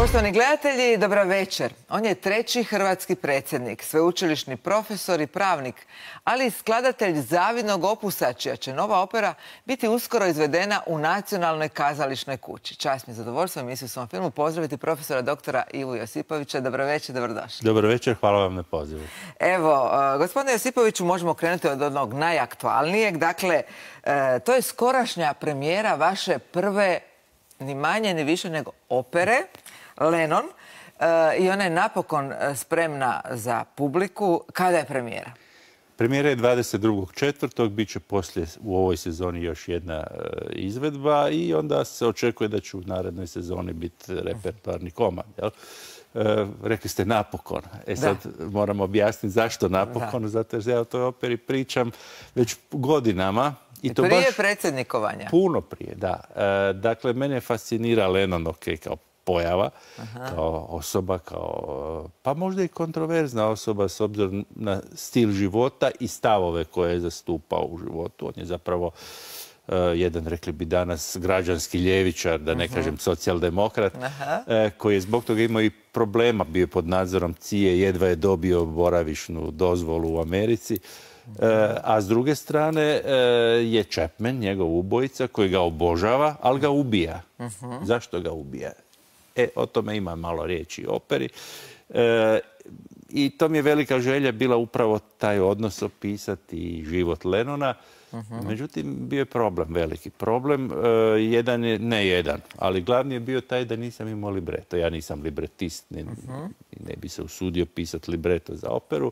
Poštovani gledatelji, dobra večer. On je treći hrvatski predsjednik, sveučilišni profesor i pravnik, ali i skladatelj zavidnog opusa, čija će nova opera biti uskoro izvedena u Nacionalnoj kazališnoj kući. Čast mi je zadovoljstvo u emisiju Svom filmu pozdraviti profesora doktora Ivu Josipovića. Dobro večer, dobrodošli. Dobro večer, hvala vam na pozivu. Evo, gospodine Josipoviću, možemo krenuti od onog najaktualnijeg. Dakle, to je skorašnja premijera vaše prve, ni manje ni više nego opere, Lenon, i ona je napokon spremna za publiku. Kada je premijera? Premijera je 22.4. Bit će poslije u ovoj sezoni još jedna izvedba i onda se očekuje da će u narednoj sezoni biti repertoarni komad. Jel? Rekli ste napokon. Sad moram objasniti zašto napokon, zato jer ja o toj operi pričam već godinama. I to prije predsjednikovanja? Puno prije, da. Dakle, mene fascinira Lenon, kao pojava, kao osoba, pa možda i kontroverzna osoba s obzirom na stil života i stavove koje je zastupao u životu. On je zapravo jedan, rekli bi danas, građanski ljevičar, da ne kažem socijaldemokrat, koji je zbog toga imao i problema, bio pod nadzorom CIA, jedva je dobio boravišnu dozvolu u Americi. A s druge strane je Chapman, njegov ubojica, koji ga obožava, ali ga ubija. Zašto ga ubija? O tome ima malo riječi u operi. I to mi je velika želja bila upravo taj odnos opisati i život Lenona. Međutim, bio je problem, veliki problem. Jedan je, ne jedan, ali glavni je bio taj da nisam imao libreto. Ja nisam libretist, ne bi se usudio pisati libreto za operu.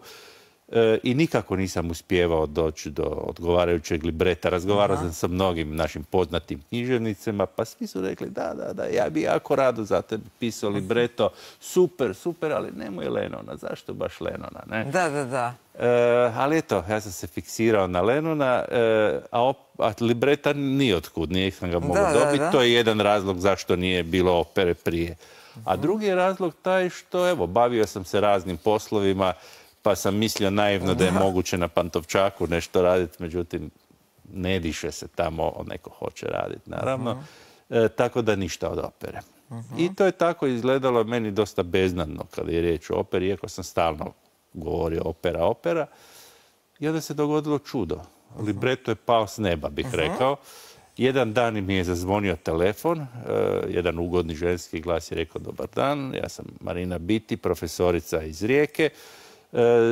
I nikako nisam uspijevao doći do odgovarajućeg libreta. Razgovarao sam sa mnogim našim poznatim književnicima, pa svi su rekli da, ja bi jako rado za tebe pisao libreto. Super, ali nemoj Lenona. Zašto baš Lenona? Ne? Da. Ali eto, ja sam se fiksirao na Lenona, a libreta nijotkud, nije sam ga mogao dobiti. To je jedan razlog zašto nije bilo opere prije. A drugi je razlog taj što, evo, bavio sam se raznim poslovima, pa sam mislio naivno da je moguće na Pantovčaku nešto raditi, međutim, ne diše se tamo, neko hoće raditi, naravno. Tako da ništa od opere. I to je tako izgledalo meni dosta beznadno kada je riječ o operi, iako sam stalno govorio opera. I onda se dogodilo čudo. Libreto je pao s neba, bih rekao. Jedan dan mi je zazvonio telefon, jedan ugodni ženski glas je rekao: dobar dan, ja sam Marina Biti, profesorica iz Rijeke.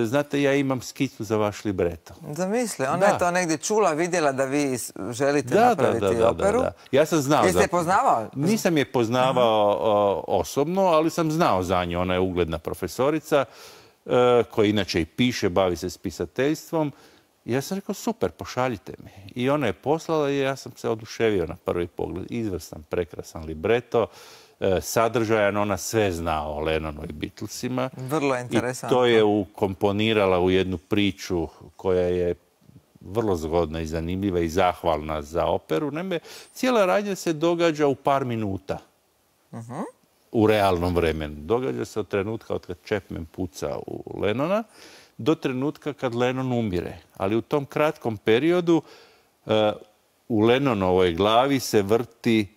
Znate, ja imam skicu za vaš libreto. Zamisli, ona je to negdje čula, vidjela da vi želite napraviti operu. Da. Ja sam znao. Jeste je poznavao? Nisam je poznavao osobno, ali sam znao za nju. Ona je ugledna profesorica koja inače i piše, bavi se s pisateljstvom. I ja sam rekao: super, pošaljite mi. I ona je poslala i ja sam se oduševio na prvi pogled. Izvrstan, prekrasan libreto. Sadržajan, ona sve zna o Lennonu i Beatlesima. Vrlo interesantno. I to je ukomponirala u jednu priču koja je vrlo zgodna i zanimljiva i zahvalna za operu. Naime, cijela radnja se događa u par minuta. U realnom vremenu. Događa se od trenutka od kad Chapman puca u Lennona do trenutka kad Lennon umire. Ali u tom kratkom periodu u Lennonovoj glavi se vrti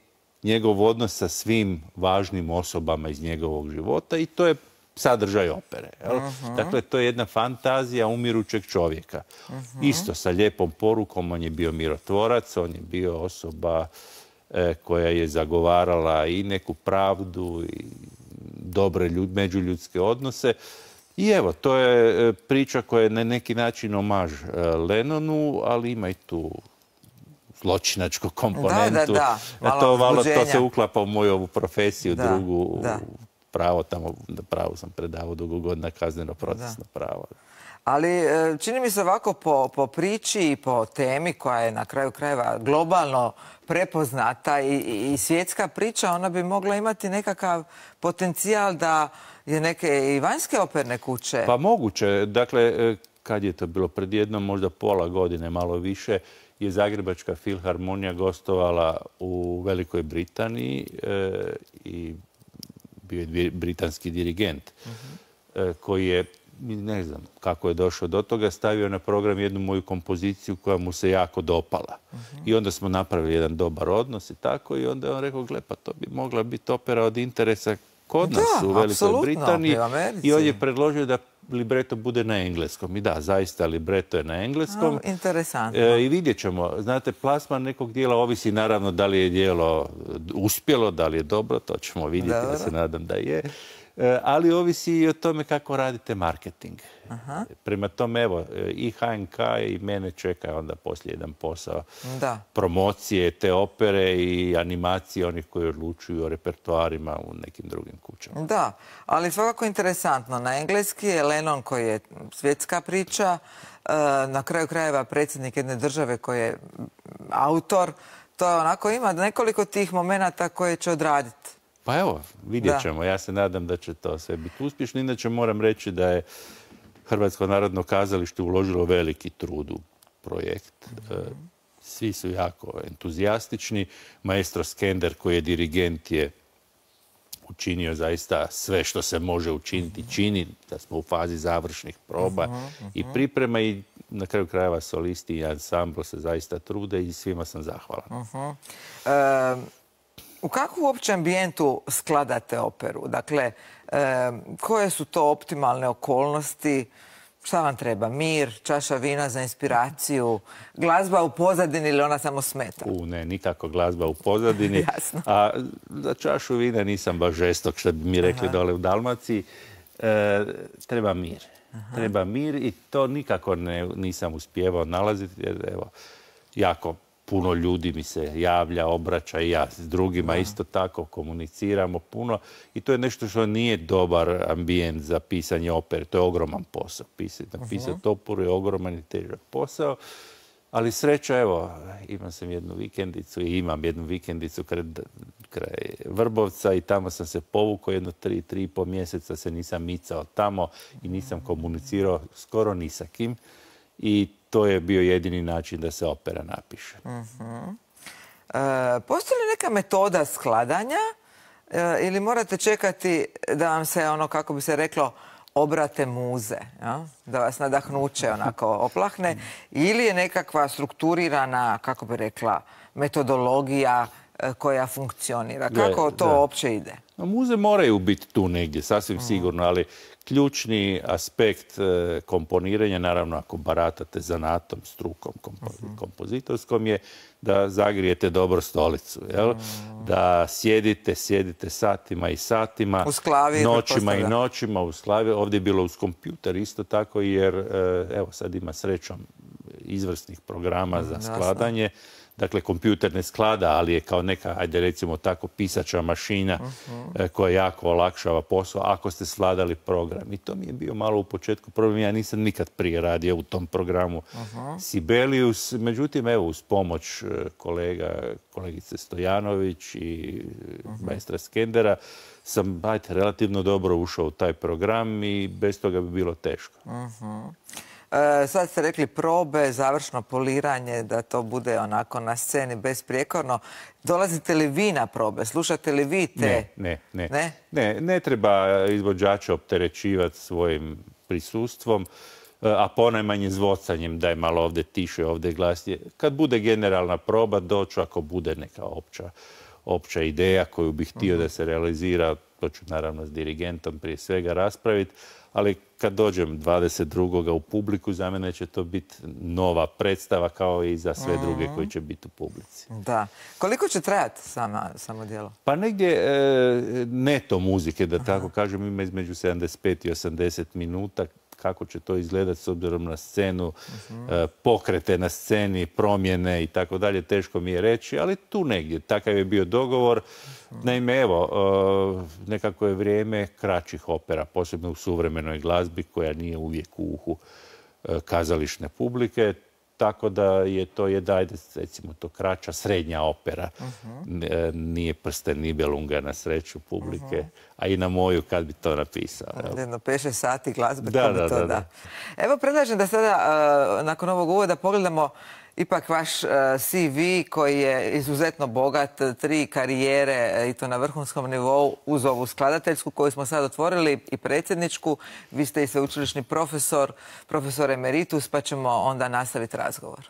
njegov odnos sa svim važnim osobama iz njegovog života i to je sadržaj opere. Dakle, to je jedna fantazija umirućeg čovjeka. Isto sa lijepom porukom, on je bio mirotvorac, on je bio osoba koja je zagovarala i neku pravdu i dobre međuljudske odnose. I evo, to je priča koja je na neki način omaž Lennonu, ali ima i tu zločinačku komponentu. To se uklapa u moju ovu profesiju, drugu pravo. Pravo sam predavao dugo godina, kazneno-procesno pravo. Ali čini mi se ovako po priči i po temi koja je na kraju krajeva globalno prepoznata i svjetska priča, ona bi mogla imati nekakav potencijal da je neke i vanjske operne kuće. Pa moguće. Dakle, kad je to bilo pred jednom možda pola godine, malo više, je Zagrebačka filharmonija gostovala u Velikoj Britaniji i bio je britanski dirigent koji je, ne znam kako je došao do toga, stavio na program jednu moju kompoziciju koja mu se jako dopala. I onda smo napravili jedan dobar odnos i tako, i onda je on rekao: gle, pa to bi mogla biti opera od interesa kod nas u Velikoj Britaniji i on je predložio da libreto bude na engleskom. I da, zaista libreto je na engleskom. Interesantno. I vidjet ćemo. Znate, plasman nekog dijela ovisi naravno da li je dijelo uspjelo, da li je dobro, to ćemo vidjeti, ja se nadam da je. Ali ovisi i o tome kako radite marketing. Prema tome, evo, i HNK i mene čeka onda poslije jedan posao promocije te opere i animacije onih koji odlučuju o repertoarima u nekim drugim kućama. Da, ali svakako interesantno. Na engleski je Lennon koji je svjetska priča, na kraju krajeva predsjednik jedne države koji je autor. To onako ima nekoliko tih momenata koje će odraditi. Pa evo, vidjet ćemo. Ja se nadam da će to sve biti uspješno. Inače moram reći da je Hrvatsko narodno kazalište uložilo veliki trud u projekt. Svi su jako entuzijastični. Maestro Skender, koji je dirigent, je učinio zaista sve što se može učiniti. Čini da smo u fazi završnih proba i priprema i na kraju krajeva solisti i ansambl se zaista trude i svima sam zahvalan. U kakvu uopće ambijentu skladate operu? Dakle, koje su to optimalne okolnosti? Šta vam treba? Mir, čaša vina za inspiraciju, glazba u pozadini ili ona samo smeta? Ne, nikako glazba u pozadini. A za čašu vina nisam baš žestok, što bi mi rekli dole u Dalmaciji. Treba mir. Treba mir i to nikako nisam uspijevao nalaziti. Jer, evo, jako puno ljudi mi se javlja, obraća i ja s drugima isto tako komuniciramo puno i to je nešto što nije dobar ambijent za pisanje opere. To je ogroman posao. Napisati operu je ogroman i težak posao, ali sreća, evo, imam jednu vikendicu kraj Vrbovca i tamo sam se povukao jedno 3,5 mjeseca se nisam micao tamo i nisam komunicirao skoro ni sa kim i to je bio jedini način da se opera napiše. Postoji li neka metoda skladanja ili morate čekati da vam se, ono kako bi se reklo, obrate muze, da vas nadahnuće onako oplahne, ili je nekakva strukturirana, kako bi rekla, metodologija koja funkcionira? Kako to uopće ide? Muze moraju biti tu negdje, sasvim sigurno, ali ključni aspekt komponiranja, naravno ako baratate zanatom, strukom kompozitorskom, je da zagrijete dobro stolicu. Da sjedite satima i satima, noćima i noćima uz klavir. Ovdje je bilo uz kompjuter isto tako, jer evo sad ima srećom izvrsnih programa za skladanje. Dakle, kompjuter ne sklada, ali je kao neka, ajde recimo tako, pisača mašina koja jako olakšava posao ako ste skladali program. I to mi je bio malo u početku problem. Ja nisam nikad prije radio u tom programu Sibelius. Međutim, evo, uz pomoć kolegice Stojanović i maestra Skendera sam, relativno dobro ušao u taj program i bez toga bi bilo teško. Sad ste rekli probe, završno poliranje, da to bude onako na sceni besprijekorno. Dolazite li vi na probe? Slušate li vi te? Ne treba izvođača opterećivati svojim prisustvom, a ponajmanje zvocanjem da je malo ovdje tiše, ovdje glasnije. Kad bude generalna proba, doću ako bude neka opća ideja koju bih htio da se realizira, to ću naravno s dirigentom prije svega raspraviti, ali kad dođem 22. u publiku, za mene će to biti nova predstava kao i za sve druge koji će biti u publici. Da. Koliko će trajati samo djelo? Pa negdje neto muzike, da tako kažem, ima između 75 i 80 minuta. Kako će to izgledati s obzirom na scenu, pokrete na sceni, promjene i tako dalje, teško mi je reći, ali tu negdje. Takav je bio dogovor. Naime, evo, nekako je vrijeme kraćih opera, posebno u suvremenoj glazbi koja nije uvijek u uhu kazališne publike, tako da je to recimo to kraća srednja opera. Nije Prsten Nibelunga na sreću publike, a i na moju kad bi to napisao. Jedno 5-6 sati glazbe, to bi to da. Evo, predlažem da sada, nakon ovog uvoda, pogledamo ipak vaš CV koji je izuzetno bogat, 3 karijere i to na vrhunskom nivou uz ovu skladateljsku koju smo sad otvorili i predsjedničku. Vi ste i sveučilišni profesor emeritus, pa ćemo onda nastaviti razgovor.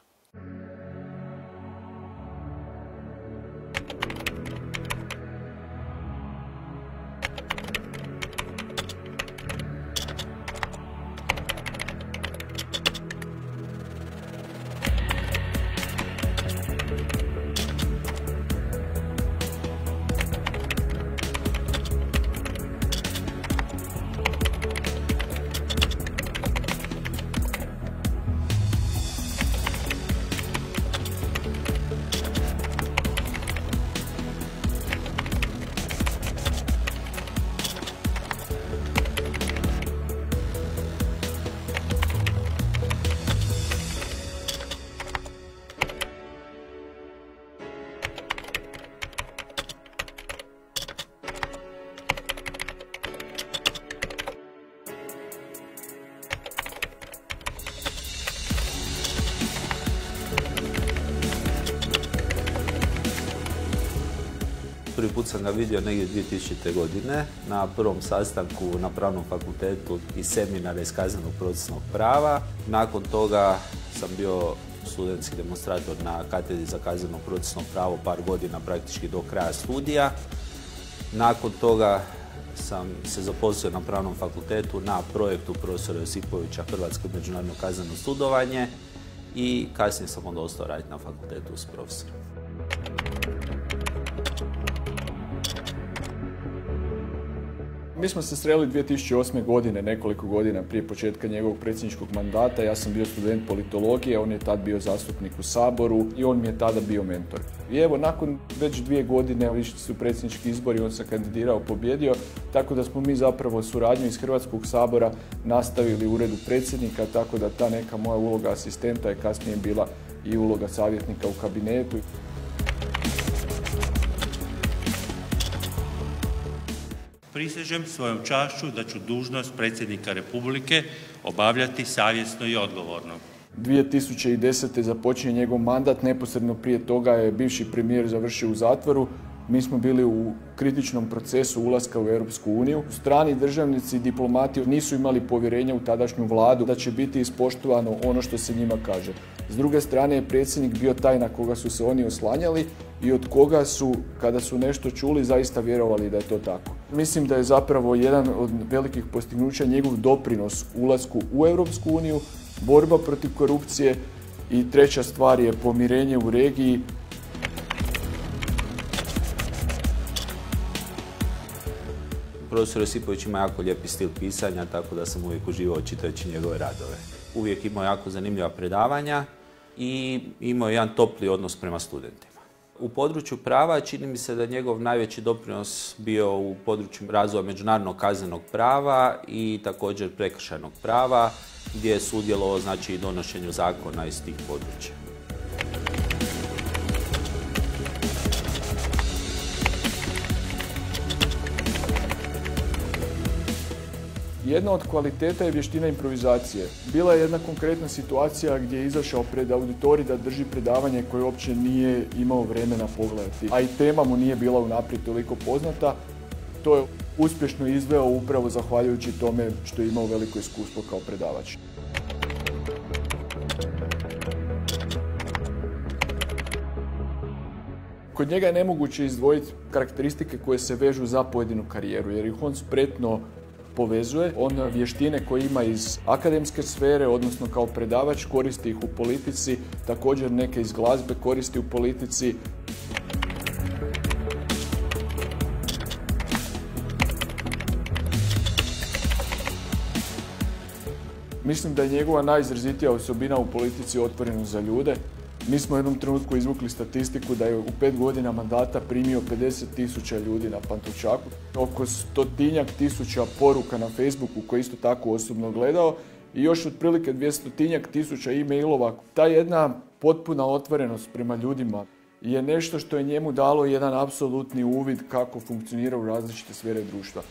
Prvi put sam ga vidio negdje 2000. godine na prvom sastanku na Pravnom fakultetu i seminara iz kaznenog procesnog prava. Nakon toga sam bio studentski demonstrator na katedri za kazneno procesno pravo par godina, praktički do kraja studija. Nakon toga sam se zaposlio na Pravnom fakultetu na projektu profesora Josipovića Hrvatsko međunarodno kazneno sudovanje i kasnije sam onda ostao raditi na fakultetu s profesorom. Mi smo se sreli 2008. godine, nekoliko godina prije početka njegovog predsjedničkog mandata. Ja sam bio student politologije, on je tad bio zastupnik u Saboru i on mi je tada bio mentor. I evo, nakon već 2 godine, išli su predsjednički izbori, on se kandidirao, pobjedio, tako da smo mi zapravo suradnju iz Hrvatskog sabora nastavili u uredu predsjednika, tako da ta neka moja uloga asistenta je kasnije bila i uloga savjetnika u kabinetu. Prisežem svojom čašću da ću dužnost predsjednika Republike obavljati savjesno i odgovorno. 2010. započinje njegov mandat, neposredno prije toga je bivši premijer završio u zatvoru. Mi smo bili u kritičnom procesu ulaska u Europsku uniju. Strani državnici i diplomati nisu imali povjerenja u tadašnju vladu da će biti ispoštovano ono što se njima kaže. S druge strane je predsjednik bio taj na koga su se oni oslanjali i od koga su, kada su nešto čuli, zaista vjerovali da je to tako. Mislim da je zapravo jedan od velikih postignuća njegov doprinos ulasku u Europsku uniju, borba protiv korupcije i treća stvar je pomirenje u regiji. Profesor Josipović ima jako lijepi stil pisanja, tako da sam uvijek uživao čitajući njegove radove. Uvijek imao jako zanimljiva predavanja i imao jedan topli odnos prema studentima. U području prava čini mi se da njegov najveći doprinos bio u području razvoja međunarodnog kaznenog prava i također prekršajnog prava, gdje je sudjelovao i donošenju zakona iz tih područja. Jedna od kvaliteta je vještina improvizacije. Bila je jedna konkretna situacija gdje je izašao pred auditorij da drži predavanje koje uopće nije imao vremena pogledati, a i tema mu nije bila unaprijed toliko poznata. To je uspješno izveo upravo zahvaljujući tome što je imao veliko iskustvo kao predavač. Kod njega je nemoguće izdvojiti karakteristike koje se vežu za pojedinu karijeru, jer ih on spretno povezuje. On vještine koje ima iz akademske sfere, odnosno kao predavač, koristi ih u politici, također neke iz glazbe koristi u politici. Mislim da je njegova najizrazitija osobina u politici otvorenost za ljude. Mi smo u jednom trenutku izvukli statistiku da je u 5 godina mandata primio 50.000 ljudi na Pantovčaku. Oko 100.000 poruka na Facebooku koje isto tako osobno gledao i još otprilike 200.000 e-mailova. Ta jedna potpuna otvorenost prema ljudima je nešto što je njemu dalo jedan apsolutni uvid kako funkcionira u različite sfere društva.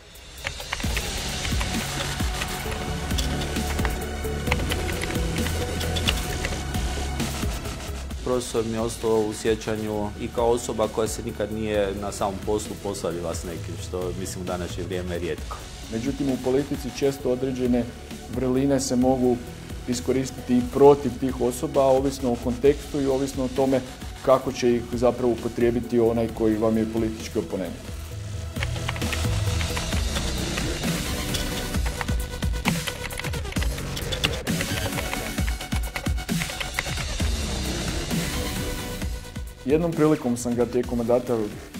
Profesor mi je ostao u sjećanju i kao osoba koja se nikad nije na samom poslu posvadila s nekim, što mislim u današnje vrijeme rijetko. Međutim, u politici često određene vrline se mogu iskoristiti i protiv tih osoba, ovisno o kontekstu i ovisno o tome kako će ih zapravo upotrijebiti onaj koji vam je politički oponent. Jednom prilikom sam ga tijekom mandata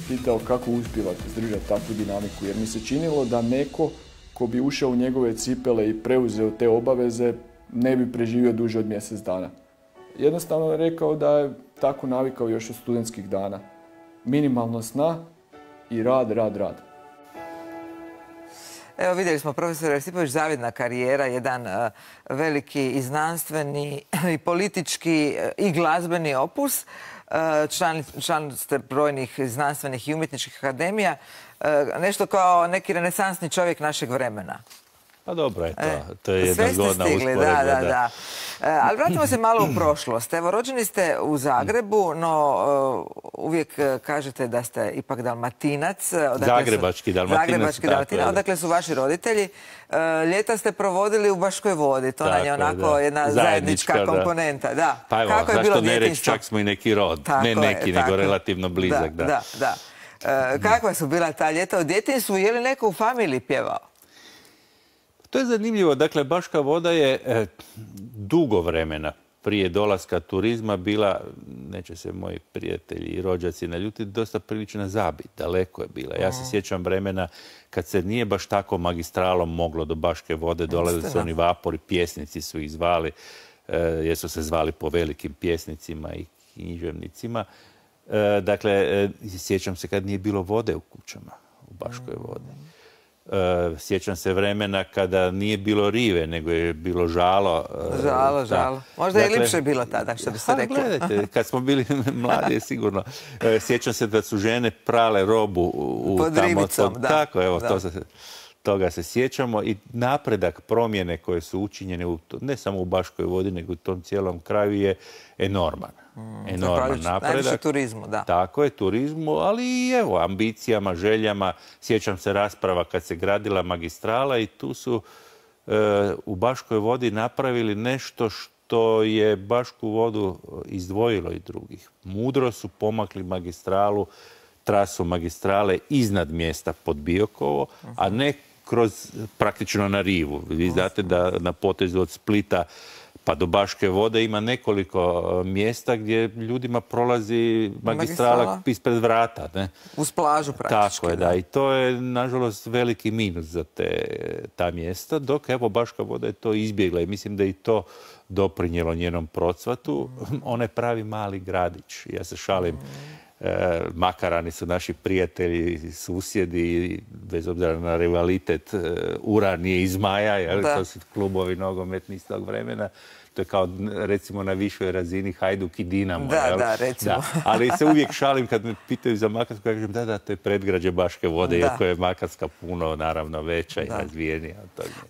pitao kako uspijeva izdržati takvu dinamiku, jer mi se činilo da neko ko bi ušao u njegove cipele i preuzeo te obaveze ne bi preživio duže od mjesec dana. Jednostavno je rekao da je tako navikao još od studentskih dana. Minimalno sna i rad. Evo, vidjeli smo profesor Josipović, zavidna karijera, jedan veliki i znanstveni i politički i glazbeni opus. Član ste brojnih znanstvenih i umjetničkih akademija. Nešto kao neki renesansni čovjek našeg vremena. Pa dobro je to. To je jedna zgodna stigli, usporedba. da. Ali vratimo se malo u prošlost. Evo, rođeni ste u Zagrebu, no uvijek kažete da ste ipak Dalmatinac. Zagrebački Dalmatinac. Odakle su vaši roditelji. Ljeta ste provodili u Baškoj Vodi. To nam je onako jedna zajednička komponenta. Da. Pa evo, zašto ne reći, čak smo i neki rod. Ne neki, nego relativno blizak. Da. Kakva su bila ta ljeta u djetinjstvu? Je li neko u familiji pjevao? To je zanimljivo. Dakle, Baška Voda je dugo vremena prije dolaska turizma bila, neće se moji prijatelji i rođaci naljutiti, dosta prilična zabit. Daleko je bila. Ja se sjećam vremena kad se nije baš tako magistralom moglo do Baške Vode, dolazili su oni vapori, pjesnici su ih zvali, jer su se zvali po velikim pjesnicima i književnicima. Dakle, sjećam se kad nije bilo vode u kućama u Baškoj Vodi. Sjećam se vremena kada nije bilo rive, nego je bilo žalo. Žalo. Možda je lipše bilo tada, što bi se reklo. Gledajte, kad smo bili mladi, sigurno. Sjećam se da su žene prale robu pod rivicom, da. Tako, evo, toga se sjećamo. I napredak, promjene koje su učinjene, ne samo u Baškoj Vodi, nego u tom cijelom kraju je enorman. Enorman napredak. Najviše turizmu, da. Tako je, turizmu, ali i evo, ambicijama, željama. Sjećam se rasprava kad se gradila magistrala i tu su u Baškoj Vodi napravili nešto što je Bašku Vodu izdvojilo i drugih. Mudro su pomakli magistralu, trasu magistrale iznad mjesta pod Biokovo, a ne praktično na rivu. Vi znate da na potezu od Splita pa do Baške Vode ima nekoliko mjesta gdje ljudima prolazi magistrala ispred vrata. Ne? Uz plažu praktički. Tako je, da. I to je, nažalost, veliki minus za ta mjesta, dok evo Baška Voda je to izbjegla i mislim da je i to doprinijelo njenom procvatu. Ona je pravi mali gradić. Ja se šalim. Makarani su naši prijatelji, susjedi, bez obzira na rivalitet Uranije i Zmaja, to su klubovi nogometni iz tog vremena. To je kao, recimo, na višoj razini Hajduk i Dinamo. Da, recimo. Da. Ali se uvijek šalim kad me pitaju za Makarsku, kažem da, to je predgrađe Baške Vode, iako je Makarska puno, naravno, veća i razvijenija.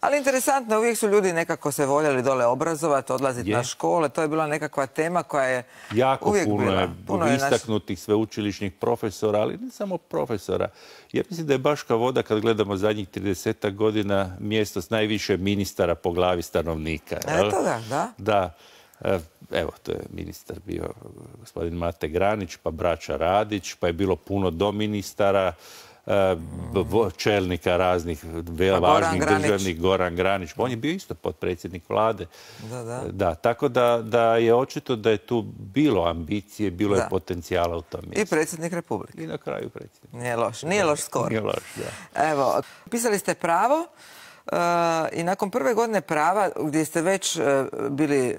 Ali interesantno, uvijek su ljudi nekako se voljeli dole obrazovati, odlaziti na škole. To je bila nekakva tema koja je uvijek bila. Jako puno je istaknutih sveučilišnih profesora, ali ne samo profesora. Ja mislim da je Baška Voda, kad gledamo zadnjih 30 godina, mjesto s najviše ministara po glavi stanovnika. Eto da. Da. Evo, to je ministar bio gospodin Mate Granić, pa braća Radić, pa je bilo puno doministara, čelnika raznih važnih državnih, Goran Granić. On je bio isto potpredsjednik vlade. Da, tako da je očito da je tu bilo ambicije, bilo je potencijala u tom mjestu. I predsjednik Republike. I na kraju predsjednik. Nije loš skor. Nije loš, da. Evo, pisali ste pravo i nakon prve godine prava, gdje ste već bili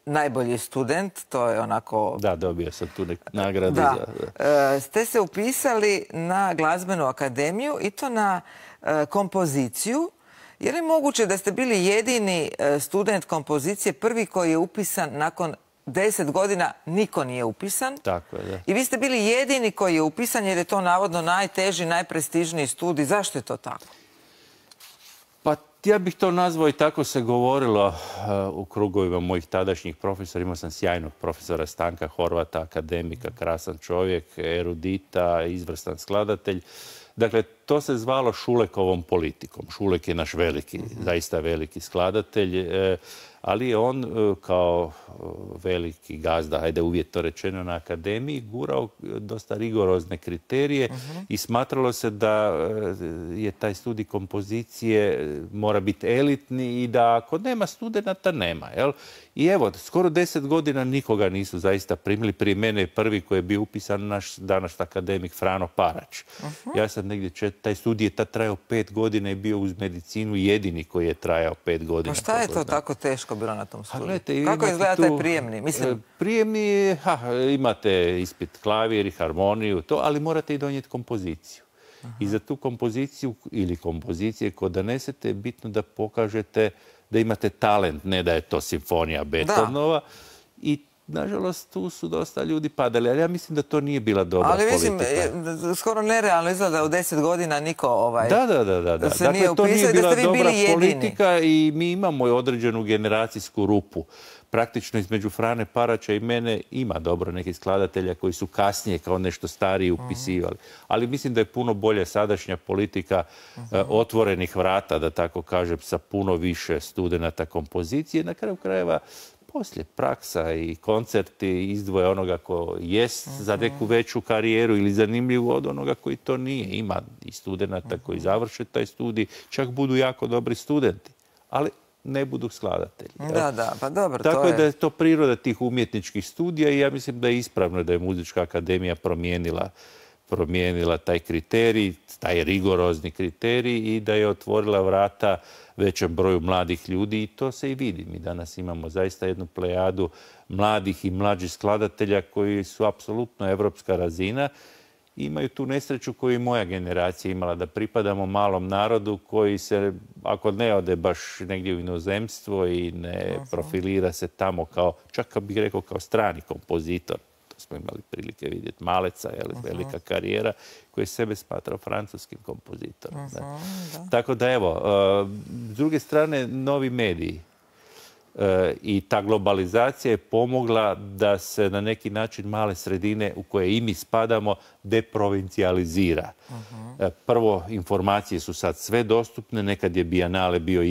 najbolji student, to je onako... Da, dobio sam tu nagradu. Ste se upisali na glazbenu akademiju i to na kompoziciju. Je li moguće da ste bili jedini student kompozicije, prvi koji je upisan nakon 10 godina, niko nije upisan? Tako je, da. I vi ste bili jedini koji je upisan jer je to navodno najteži, najprestižniji studij. Zašto je to tako? Pa ja bih to nazvao i tako se govorilo u krugovima mojih tadašnjih profesora. Imao sam sjajnog profesora Stanka Horvata, akademika, krasan čovjek, erudita, izvrstan skladatelj. Dakle, to se zvalo Šulekovom politikom. Šulek je naš veliki, zaista veliki skladatelj, ali je on kao veliki gazda, hajde uvjetno rečeno, na akademiji gurao dosta rigorozne kriterije i smatralo se da je taj studij kompozicije mora biti elitni i da ako nema studenata, nema. I evo, skoro 10 godina nikoga nisu zaista primili. Prije mene je prvi koji je bio upisan naš današnji akademik Frano Parač. Ja sam negdje, taj studij je tad trajao 5 godina i bio uz medicinu jedini koji je trajao 5 godina. Pa šta je to tako teško bilo na tom studiju? Kako izgleda taj prijemni? Prijemni, imate ispit klavir i harmoniju, ali morate i donijeti kompoziciju. I za tu kompoziciju ili kompozicije koje donesete je bitno da pokažete da imate talent, ne da je to simfonija Beethovenova. I nažalost, tu su dosta ljudi padali, ali ja mislim da to nije bila dobra politika. Ali mislim, skoro nerealno izgleda u 10 godina niko se nije to nije upisao i da ste vi bili jedini. politika i mi imamo određenu generacijsku rupu. Praktično između Frane Paraća i mene ima dobro nekih skladatelja koji su kasnije kao nešto stariji upisivali. Ali mislim da je puno bolje sadašnja politika otvorenih vrata, da tako kažem, sa puno više studenata kompozicije. Na kraju krajeva poslije praksa i koncerti izdvoje onoga ko jest za neku veću karijeru ili zanimljivu od onoga koji to nije. Ima i studenata koji završe taj studij, čak budu jako dobri studenti, ali ne budu skladatelji. Da, pa dobro, tako je da je to priroda tih umjetničkih studija i ja mislim da je ispravno da je Muzička akademija promijenila taj kriterij, taj rigorozni kriterij i da je otvorila vrata većem broju mladih ljudi i to se i vidi. Mi danas imamo zaista jednu plejadu mladih i mlađih skladatelja koji su apsolutno evropska razina. Imaju tu nesreću koju je moja generacija imala, da pripadamo malom narodu koji se, ako ne ode baš negdje u inozemstvo i ne profilira se tamo kao, čak bih rekao kao strani kompozitor, smo imali prilike vidjeti Maleca, velika karijera, koji je sebe smatrao francuskim kompozitorom. Tako da evo, s druge strane, novi mediji i ta globalizacija je pomogla da se na neki način male sredine u koje i mi spadamo deprovincijalizira. Prvo, informacije su sad sve dostupne, nekad je Biennale bio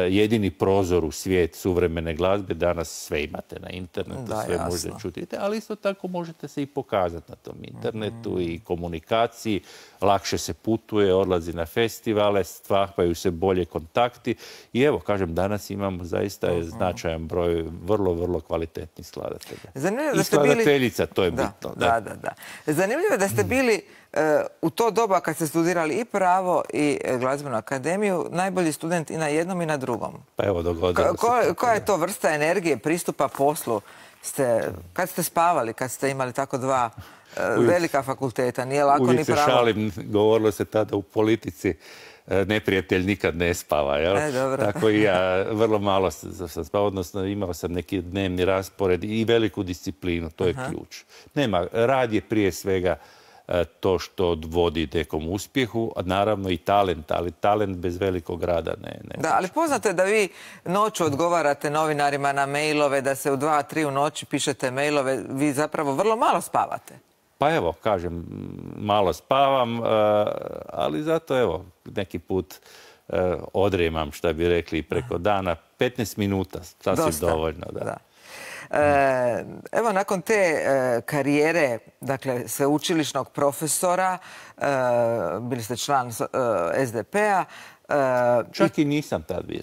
jedini prozor u svijet suvremene glazbe, danas sve imate na internetu, sve možete čuti. Ali isto tako možete se i pokazati na tom internetu i komunikaciji, lakše se putuje, odlazi na festivale, stvaraju se bolje kontakti i evo, kažem, danas imamo zaista značajan broj vrlo, vrlo kvalitetnih skladatelja. I skladateljica, to je bitno. Da. Zanimljivo je da ste bili u to doba kad ste studirali i pravo i glazbenu akademiju, najbolji student i na jednom i na drugom. Pa evo, dogodilo se. Koja je to vrsta energije, pristupa poslu? Kad ste spavali, kad ste imali tako dva velika fakulteta, nije lako ni pravo? Uvijek se šalim, govorilo se tada u politici, neprijatelj nikad ne spava. Tako i ja vrlo malo sam spavao, odnosno imao sam neki dnevni raspored i veliku disciplinu, to je ključ. Nema, rad je prije svega to što vodi nekom uspjehu, a naravno i talent, ali talent bez velikog rada ne. Da, ali poznato je da vi noću odgovarate novinarima na mailove, da se u 2-3 u noći pišete mailove, vi zapravo vrlo malo spavate. Pa evo, kažem, malo spavam, ali zato evo, neki put odrijemam, šta bi rekli, preko dana. 15 minuta, sasvim dovoljno. Da. Evo, nakon te karijere, dakle, sveučilišnog profesora, bili ste član SDP-a. Čak i nisam tad bio.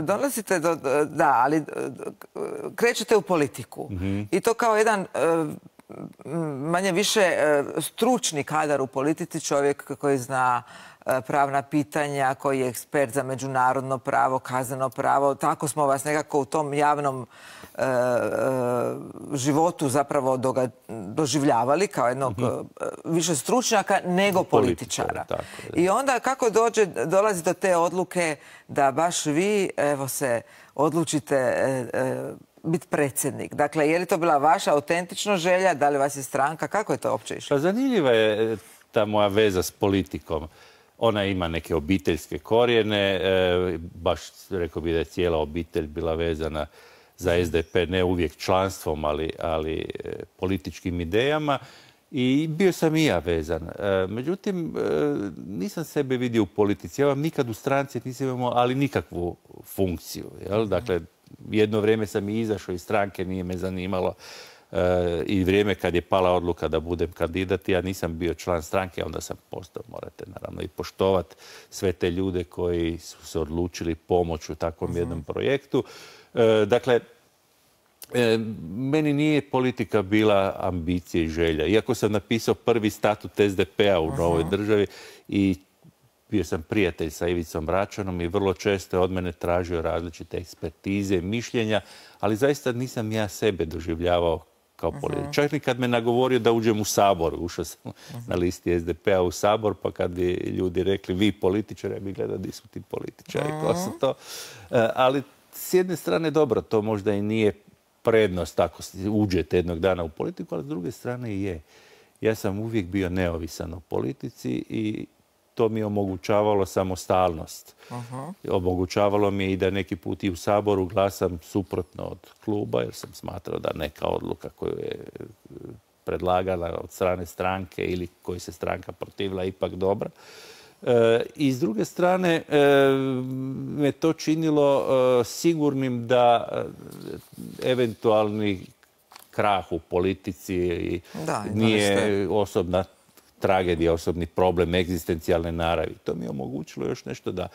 Dolazite do... Da, ali krećete u politiku. I to kao jedan manje više stručni kadar u politici, čovjek koji zna pravna pitanja, koji je ekspert za međunarodno pravo, kazneno pravo. Tako smo vas nekako u tom javnom životu zapravo doživljavali kao jednog više stručnjaka nego političara. I onda kako dolazi do te odluke da baš vi, evo, se odlučite biti predsjednik? Dakle, je li to bila vaša autentična želja? Da li vas je stranka? Kako je to uopće išlo? Pa zanimljiva je ta moja veza s politikom. Ona ima neke obiteljske korijene, baš rekao bih da je cijela obitelj bila vezana za SDP, ne uvijek članstvom, ali političkim idejama. I bio sam i ja vezan. Međutim, nisam sebe vidio u politici. Ja vam nikad u stranci nisam imao, ali nikakvu funkciju. Dakle, jedno vrijeme sam i izašao iz stranke, nije me zanimalo. I vrijeme kad je pala odluka da budem kandidat, ja nisam bio član stranke, onda sam postao, morate naravno i poštovati sve te ljude koji su se odlučili pomoći u takvom jednom projektu. Dakle, meni nije politika bila ambicija i želja. Iako sam napisao prvi statut SDP-a u novoj državi i bio sam prijatelj sa Ivicom Račanom i vrlo često je od mene tražio različite ekspertize, mišljenja, ali zaista nisam ja sebe doživljavao kao političar. Čak i kad me nagovorio da uđem u Sabor, ušao sam na listi SDP-a u Sabor, pa kad bi ljudi rekli vi političari, ja bih gledao di su ti političari, ko su to. Ali s jedne strane dobro, to možda i nije prednost ako uđete jednog dana u politiku, ali s druge strane je. Ja sam uvijek bio neovisan o politici i to mi je omogućavalo samostalnost. Omogućavalo mi je i da neki put i u Saboru glasam suprotno od kluba, jer sam smatrao da neka odluka koju je predlagala od strane stranke ili koju se stranka protivila ipak dobra. I s druge strane me to činilo sigurnim da eventualni krah u politici nije osobna tragedija, osobni problem egzistencijalne naravi. To mi je omogućilo još nešto da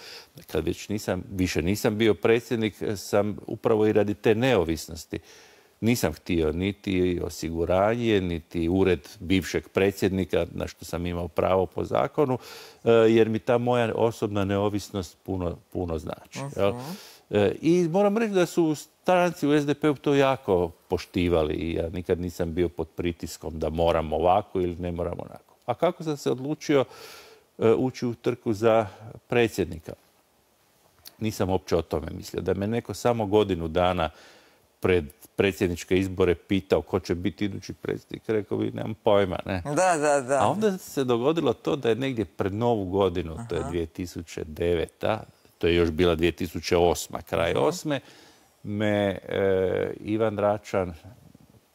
kad već više nisam bio predsjednik, sam upravo i radi te neovisnosti. Nisam htio niti osiguranje, niti ured bivšeg predsjednika, na što sam imao pravo po zakonu, jer mi ta moja osobna neovisnost puno znači. I moram reći da su stranci u SDP-u to jako poštivali i ja nikad nisam bio pod pritiskom da moram ovako ili ne moram onako. A kako sam se odlučio ući u trku za predsjednika? Nisam uopće o tome mislio. Da me neko samo godinu dana pred predsjedničke izbore pitao ko će biti idući predsjednik, rekao bi, nemam pojma, ne? Da. A onda se dogodilo to da je negdje pred Novu godinu, to je 2009. To je još bila 2008. Kraj 8. me Ivan Račan,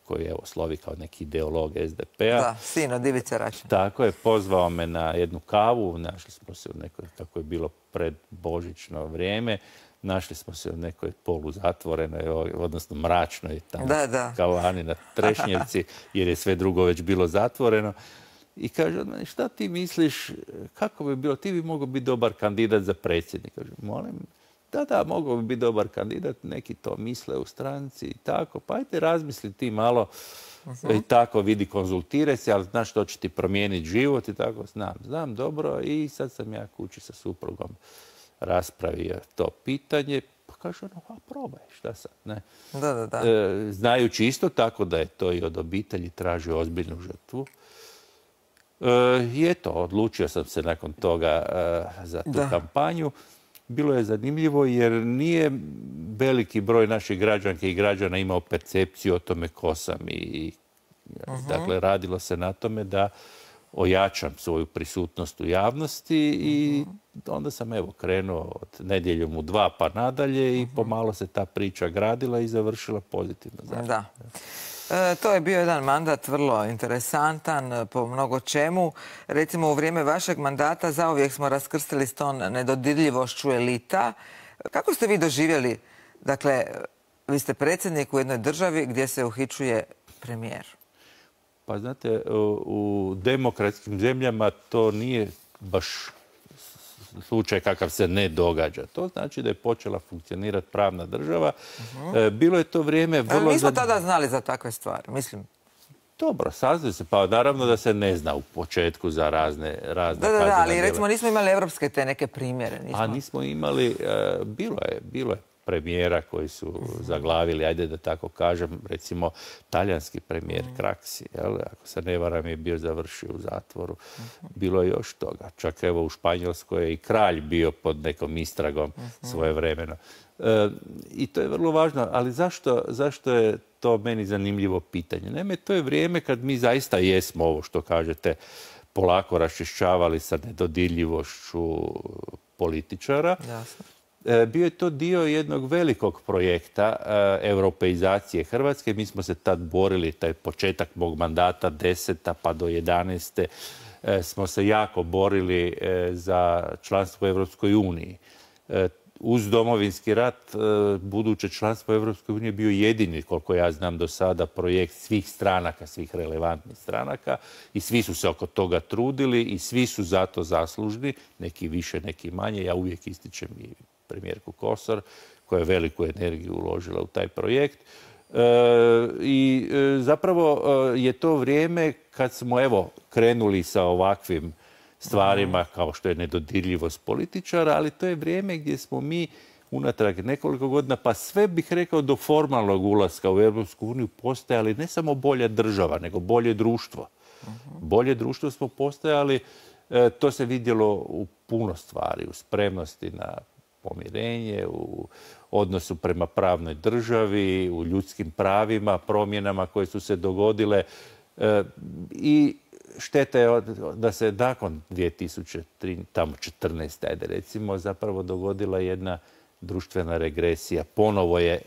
koji je slovi kao neki ideolog SDP-a. Da, sin od Ivice Račana. Tako je, pozvao me na jednu kavu, našli smo se u nekoj, kako je bilo pred božićno vrijeme, našli smo se u nekoj poluzatvorenoj, odnosno mračnoj tamo kavani na Trešnjevci, jer je sve drugo već bilo zatvoreno. I kaže od mene, šta ti misliš, kako bi bilo, ti bi mogao biti dobar kandidat za predsjednika. Kaže, molim, da, mogao bi biti dobar kandidat, neki to misle u stranci i tako, pa ajde razmisli ti malo i tako vidi, konzultiraj se, ali znaš što će ti promijeniti život i tako, znam dobro i sad sam ja kući sa suprugom raspravio to pitanje, pa kaže ono, probaj, šta sad, ne? Da. Znajući isto tako da je to i od obitelji tražio ozbiljnu žrtvu. I eto, odlučio sam se nakon toga za tu kampanju. Bilo je zanimljivo jer nije veliki broj naših građanki i građana imao percepciju o tome ko sam. Dakle, radilo se na tome da ojačam svoju prisutnost u javnosti i onda sam krenuo od Nedjeljom u 2 pa nadalje i pomalo se ta priča gradila i završila pozitivno. Da. To je bio jedan mandat vrlo interesantan po mnogo čemu. Recimo, u vrijeme vašeg mandata zauvijek smo raskrstili s tom nedodirljivošću elita. Kako ste vi doživjeli, dakle, vi ste predsjednik u jednoj državi gdje se uhićuje premijer? Pa znate, u demokratskim zemljama to nije baš slučaj kakav se ne događa. To znači da je počela funkcionirati pravna država. Bilo je to vrijeme vrlo... Nismo tada znali za takve stvari, mislim. Dobro, saznaju se, pa naravno da se ne zna u početku za razne kaznena djela. Da, ali recimo nismo imali evropske te neke primjere. A nismo imali, bilo je premijera koji su zaglavili, ajde da tako kažem, recimo talijanski premijer Craxi, ako se ne varam, je bio završio u zatvoru. Bilo je još toga. Čak evo u Španjolskoj je i kralj bio pod nekom istragom svojevremeno. I to je vrlo važno, ali zašto je to meni zanimljivo pitanje? Naime, to je vrijeme kad mi zaista jesmo ovo što kažete polako raščišćavali sa nedodirljivošću političara. Jasno. Bio je to dio jednog velikog projekta europeizacije Hrvatske. Mi smo se tad borili, taj početak mog mandata 10. pa do 11. Smo se jako borili za članstvo u Europskoj uniji. Uz Domovinski rat, buduće članstvo u Europskoj uniji je bio jedini, koliko ja znam do sada, projekt svih stranaka, svih relevantnih stranaka i svi su se oko toga trudili i svi su zato zaslužni, neki više, neki manje. Ja uvijek ističem i premijerku Kosor, koja je veliku energiju uložila u taj projekt. I zapravo je to vrijeme kad smo krenuli sa ovakvim stvarima kao što je nedodirljivost političara, ali to je vrijeme gdje smo mi unatrag nekoliko godina, pa sve bih rekao do formalnog ulaska u Europsku uniju postajali ne samo bolja država, nego bolje društvo. Bolje društvo smo postajali, to se vidjelo u puno stvari, u spremnosti na pomirenje, u odnosu prema pravnoj državi, u ljudskim pravima, promjenama koje su se dogodile. I šteta je da se nakon 2014. ajde recimo, zapravo dogodila jedna društvena regresija. Ponovo je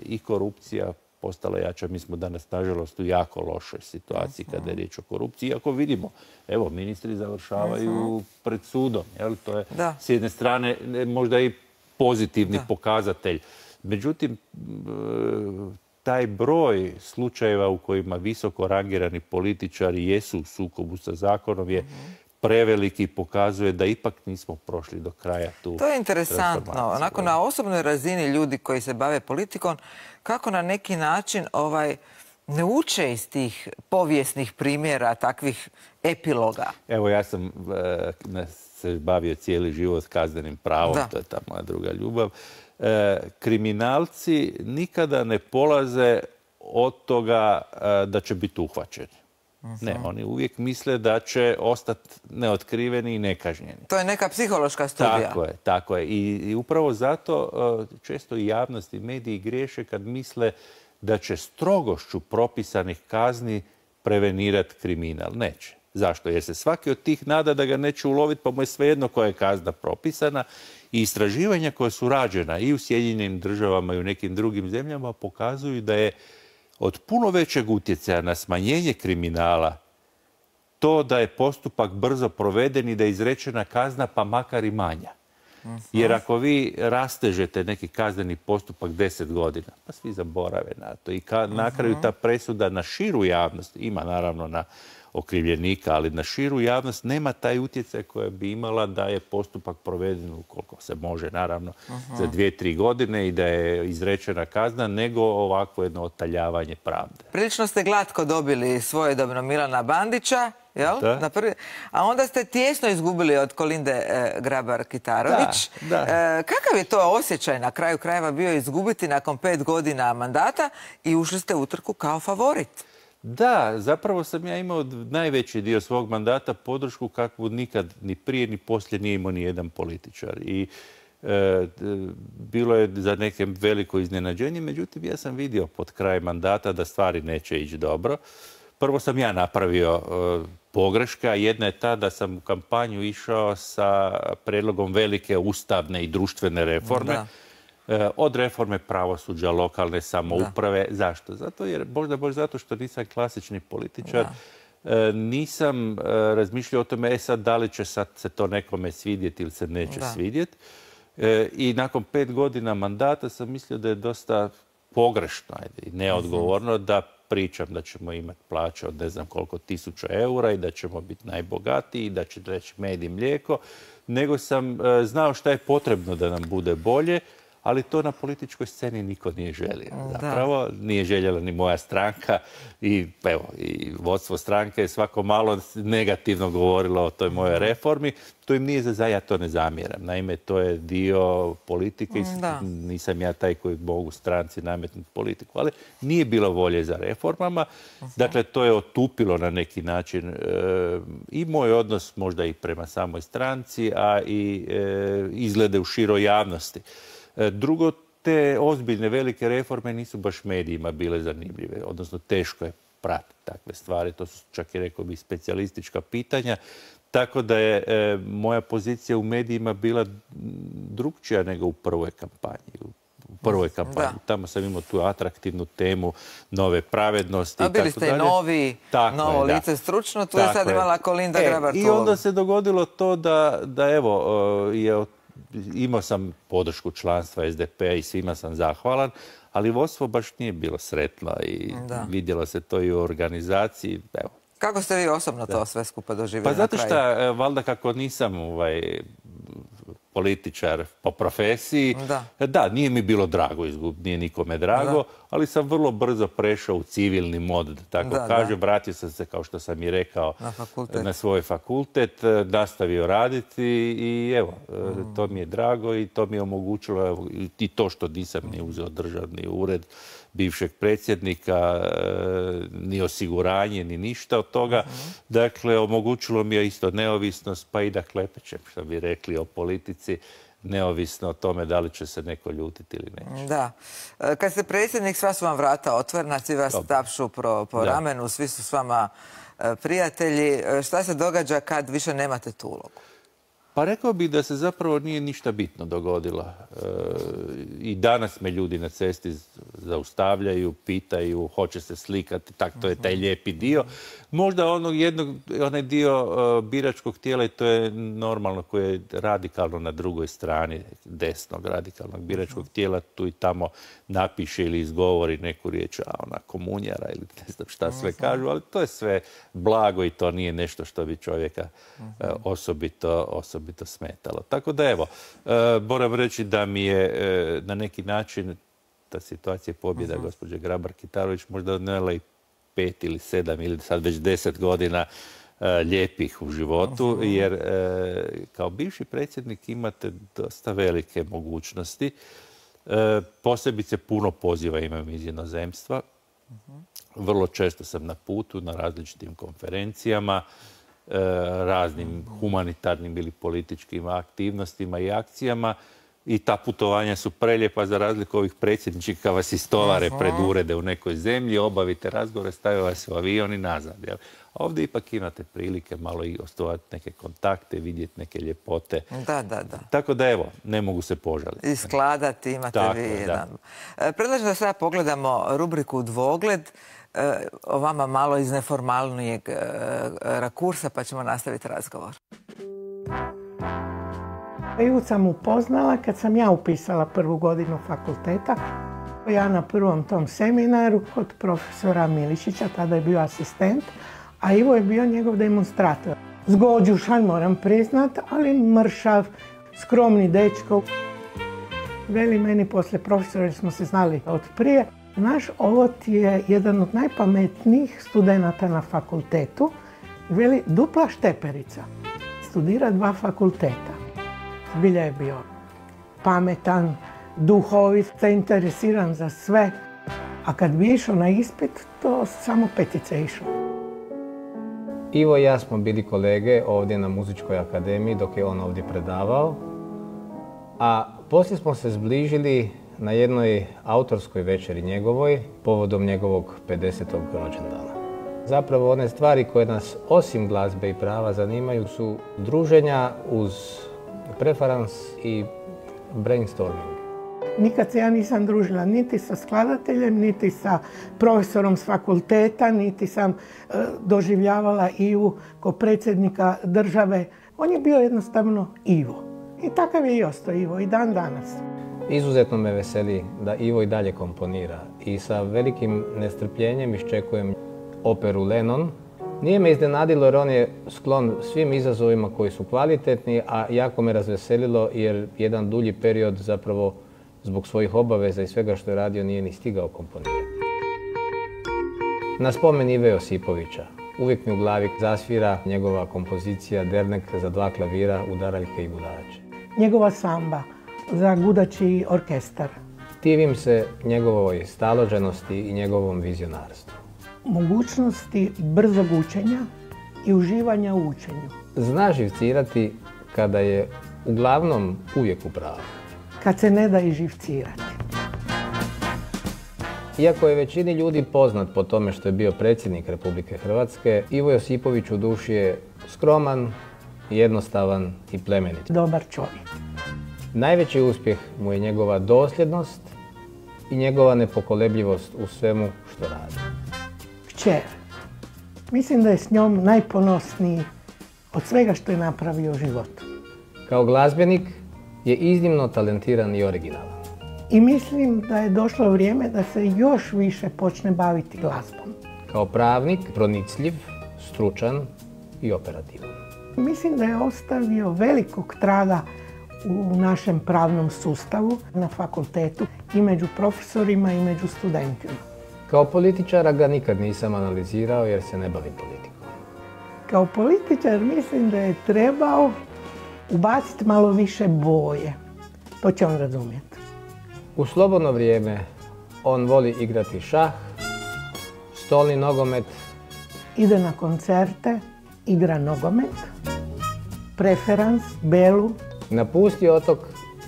i korupcija postala jača. Mi smo danas, nažalost, u jako lošoj situaciji kada je riječ o korupciji. Iako vidimo, evo, ministri završavaju pred sudom. To je s jedne strane možda i pozitivni pokazatelj. Međutim, taj broj slučajeva u kojima visoko rangirani političari jesu u sukobu sa zakonom je preveliki i pokazuje da ipak nismo prošli do kraja tu. To je interesantno. Onako, na osobnoj razini ljudi koji se bave politikom, kako na neki način ne uče iz tih povijesnih primjera, takvih epiloga? Evo, ja sam se bavio cijeli život kaznenim pravom, to je ta moja druga ljubav. Kriminalci nikada ne polaze od toga da će biti uhvaćeni. Ne, oni uvijek misle da će ostati neotkriveni i nekažnjeni. To je neka psihološka studija. Tako je. I upravo zato često i javnost i mediji griješe kad misle da će strogošću propisanih kazni prevenirati kriminal. Neće. Zašto? Jer se svaki od tih nada da ga neće uloviti, pa mu je svejedno koja je kazna propisana. I istraživanja koja su rađena i u Sjedinjenim državama i u nekim drugim zemljama pokazuju da je od puno većeg utjecaja na smanjenje kriminala to da je postupak brzo proveden i da je izrečena kazna pa makar i manja. Jer ako vi rastežete neki kazneni postupak 10 godina, pa svi zaborave na to. I na kraju ta presuda na širu javnost, ima naravno na okrivljenika, ali na širu javnost nema taj utjecaj koji bi imala da je postupak proveden ukoliko se može, naravno, za 2-3 godine i da je izrečena kazna, nego ovako jedno otaljavanje pravde. Prilično ste glatko dobili svojedobno Milana Bandića, jel? A onda ste tijesno izgubili od Kolinde Grabar-Kitarović. Kakav je to osjećaj na kraju krajeva bio izgubiti nakon 5 godina mandata i ušli ste u utrku kao favorit? Da, zapravo sam ja imao najveći dio svog mandata podršku kakvu nikad ni prije ni poslije nije imao ni jedan političar. I bilo je za neke veliko iznenađenje, međutim ja sam vidio pod kraj mandata da stvari neće ići dobro. Prvo sam ja napravio pogreška. Jedna je ta da sam u kampanju išao sa prijedlogom velike ustavne i društvene reforme. Od reforme pravosuđa, lokalne samouprave. Zašto? Zato jer, možda baš zato što nisam klasični političar, nisam razmišljao o tome sad da li će sad se to nekome svidjeti ili se neće svidjeti. I nakon 5 godina mandata sam mislio da je dosta pogrešno i neodgovorno da pričam da ćemo imati plaće od ne znam koliko 1000 eura i da ćemo biti najbogatiji i da će reći med i mlijeko, nego sam znao šta je potrebno da nam bude bolje, ali to na političkoj sceni niko nije želio. Zapravo nije željela ni moja stranka i vodstvo stranke je svako malo negativno govorilo o toj mojoj reformi. To im nije ja to ne zamjeram. Naime, to je dio politike i nisam ja taj koji mogu stranci nametnuti politiku. Ali nije bilo volje za reformama. Dakle, to je otupilo na neki način i moj odnos možda i prema samoj stranci, a i izglede u široj javnosti. Drugo, te ozbiljne velike reforme nisu baš medijima bile zanimljive, odnosno teško je pratiti takve stvari. To su čak i, rekao bih, specijalistička pitanja. Tako da je moja pozicija u medijima bila drukčija nego u prvoj kampanji. Tamo sam imao tu atraktivnu temu nove pravednosti. A bili ste i novo lice stručno, tu je sad imala Kolinda Grabar-Kitarović. I onda se dogodilo to da evo, imao sam podršku članstva SDP-a i svima sam zahvalan, ali vodstvo baš nije bilo sretno i vidjelo se to i u organizaciji. Evo. Kako ste vi osobno to sve skupa doživjeli na kraju? Pa zato što, valjda kako nisam političar po profesiji, nije mi bilo drago izgubiti, nije nikome drago, ali sam vrlo brzo prešao u civilni mod, da tako kažem. Vratio sam se, kao što sam i rekao, na svoj fakultet, nastavio raditi i evo, to mi je drago i to mi je omogućilo i to što nisam ni uzeo državni ured bivšeg predsjednika, ni osiguranje, ni ništa od toga. Dakle, omogućilo mi je isto neovisnost, pa i da klepećem, što bi rekli o politici. neovisno o tome da li će se neko ljutiti ili neće. Da. Kad ste predsjednik, sva su vam vrata otvorena, svi vas tapšu po ramenu, svi su s vama prijatelji. Šta se događa kad više nemate tu ulogu? Pa rekao bih da se zapravo nije ništa bitno dogodilo. I danas me ljudi na cesti zaustavljaju, pitaju, hoće se slikati, tak to je taj lijepi dio. Možda onaj dio biračkog tijela, i to je normalno, koje je radikalno na drugoj strani desnog radikalnog biračkog tijela, tu i tamo napiše ili izgovori neku riječ, ona komunjara ili ne znam šta sve kažu, ali to je sve blago i to nije nešto što bi čovjeka osobito smetalo. Tako da evo, moram reći da mi je na neki način ta situacija pobjeda gospođe Grabar-Kitarović možda odnijela i 5 ili 7 ili sad već 10 godina lijepih u životu, jer kao bivši predsjednik imate dosta velike mogućnosti. Posebice puno poziva imam iz inozemstva. Vrlo često sam na putu, na različitim konferencijama, raznim humanitarnim ili političkim aktivnostima i akcijama. I ta putovanja su prelijepa za razliku ovih predsjedničkih kad vas istovare pred urede u nekoj zemlji, obavite razgovore, stave vas u avion i nazad. Jel? A ovdje ipak imate prilike malo i osnovati neke kontakte, vidjeti neke ljepote. Da. Tako da evo, ne mogu se požaliti. I skladati imate vi jedan. Predlažem da sada pogledamo rubriku Dvogled, o vama malo iz neformalnijeg rakursa, pa ćemo nastaviti razgovor. Ivu sam upoznala kad sam ja upisala prvu godinu fakulteta. Ja na prvom tom seminaru kod profesora Milišića, tada je bio asistent, a Ivo je bio njegov demonstrator. Zgođušan, moram priznat, ali mršav, skromni dečko. Veli meni poslije profesora, jer smo se znali od prije, naš ovo ti je jedan od najpametnijih studenata na fakultetu. Veli, dupla šteperica. Studira 2 fakulteta. Zbilja je bio pametan, duhovit, zainteresiran za sve. A kad bi išao na ispit, to samo 5 išao. Ivo i ja smo bili kolege ovdje na Muzičkoj akademiji dok je on ovdje predavao. A poslije smo se zbližili na jednoj autorskoj večeri njegovoj, povodom njegovog 50. rođendana. Zapravo one stvari koje nas osim glazbe i prava zanimaju su druženja uz preferans i brainstorming. Nikad se ja nisam družila niti sa skladateljem, niti sa profesorom s fakulteta, niti sam doživljavala Ivu kao predsjednika države. On je bio jednostavno Ivo. I takav je i ostao Ivo i dan danas. Izuzetno me veseli da Ivo i dalje komponira i sa velikim nestrpljenjem iščekujem operu Lennon. Nije me iznenadilo jer on je sklon svim izazovima koji su kvalitetni, a jako me razveselilo jer jedan dulji period zapravo zbog svojih obaveza i svega što je radio nije ni stigao komponirati. Na spomen Ive Josipovića uvijek mi u glavi zasvira njegova kompozicija Dernek za 2 klavira, udaraljke i gudače. Njegova samba za gudači orkestar. Divim se njegovoj staloženosti i njegovom vizionarstvu. Mogućnosti brzog učenja i uživanja u učenju. Zna živcirati kada je uglavnom uvijek u pravu. Kad se ne da i živcirati. Iako je većini ljudi poznat po tome što je bio predsjednik Republike Hrvatske, Ivo Josipović u duši je skroman, jednostavan i plemenit. Dobar čovjek. Najveći uspjeh mu je njegova dosljednost i njegova nepokolebljivost u svemu što radi. Kćer. Mislim da je s njom najponosniji od svega što je napravio u životu. Kao glazbenik je iznimno talentiran i originalan. I mislim da je došlo vrijeme da se još više počne baviti glazbom. Kao pravnik pronicljiv, stručan i operativan. Mislim da je ostavio velikog traga u našem pravnom sustavu, na fakultetu i među profesorima i među studentima. Kao političara ga nikad nisam analizirao jer se ne bavim politikom. Kao političar mislim da je trebao ubaciti malo više boje. To će on razumjeti. U slobodno vrijeme on voli igrati šah, stolni nogomet. Ide na koncerte, igra nogomet, preferans, belu. Napusti otok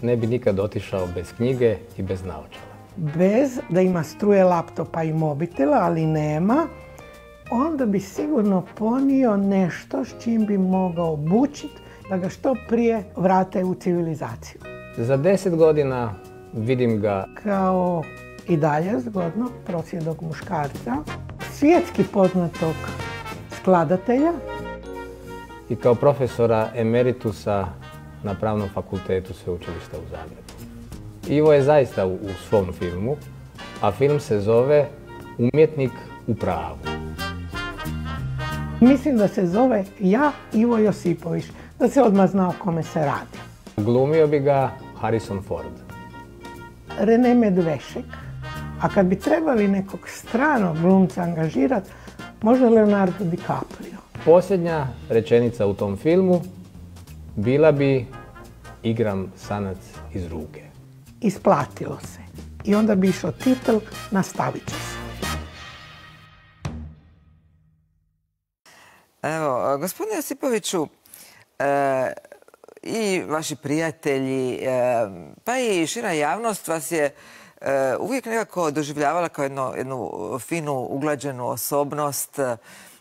ne bi nikad otišao bez knjige i bez naočala. Bez da ima struje laptopa i mobitela, ali nema, onda bi sigurno ponio nešto s čim bi mogao obučiti da ga što prije vrate u civilizaciju. Za 10 godina vidim ga Kao i dalje zgodno prosvjedog muškarca, svjetski poznatog skladatelja, i kao profesora emeritusa na Pravnom fakultetu Sveučilišta u Zagrebu. Ivo je zaista u svom filmu, a film se zove Umjetnik u pravu. mislim da se zove Ja, Ivo Josipović, da se odmah zna o kome se radi. Glumio bi ga Harrison Ford. René Medvešek, a kad bi trebali nekog stranog glumca angažirati, možda Leonardo DiCaprio. Posljednja rečenica u tom filmu bila bi igram sanac iz ruke. Isplatilo se. I onda bi išao titl Nastavit će se. Evo, gospodine Josipoviću, i vaši prijatelji, pa i šira javnost vas je uvijek nekako doživljavala kao jednu finu, uglađenu osobnost,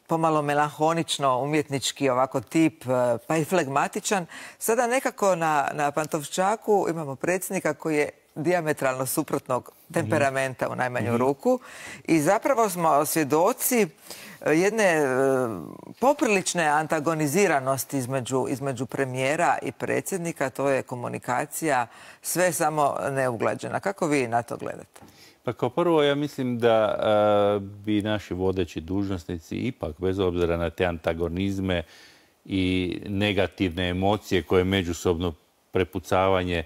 pomalo melanholično, umjetnički ovako tip, pa i flegmatičan. Sada nekako na Pantovčaku imamo predsjednika koji je dijametralno suprotnog temperamenta u najmanju ruku i zapravo smo svjedoci jedne poprilične antagoniziranosti između premijera i predsjednika. To je komunikacija sve samo neuglađena. Kako vi na to gledate? Pa kao prvo, ja mislim da bi naši vodeći dužnosnici ipak, bez obzira na te antagonizme i negativne emocije koje međusobno prepucavanje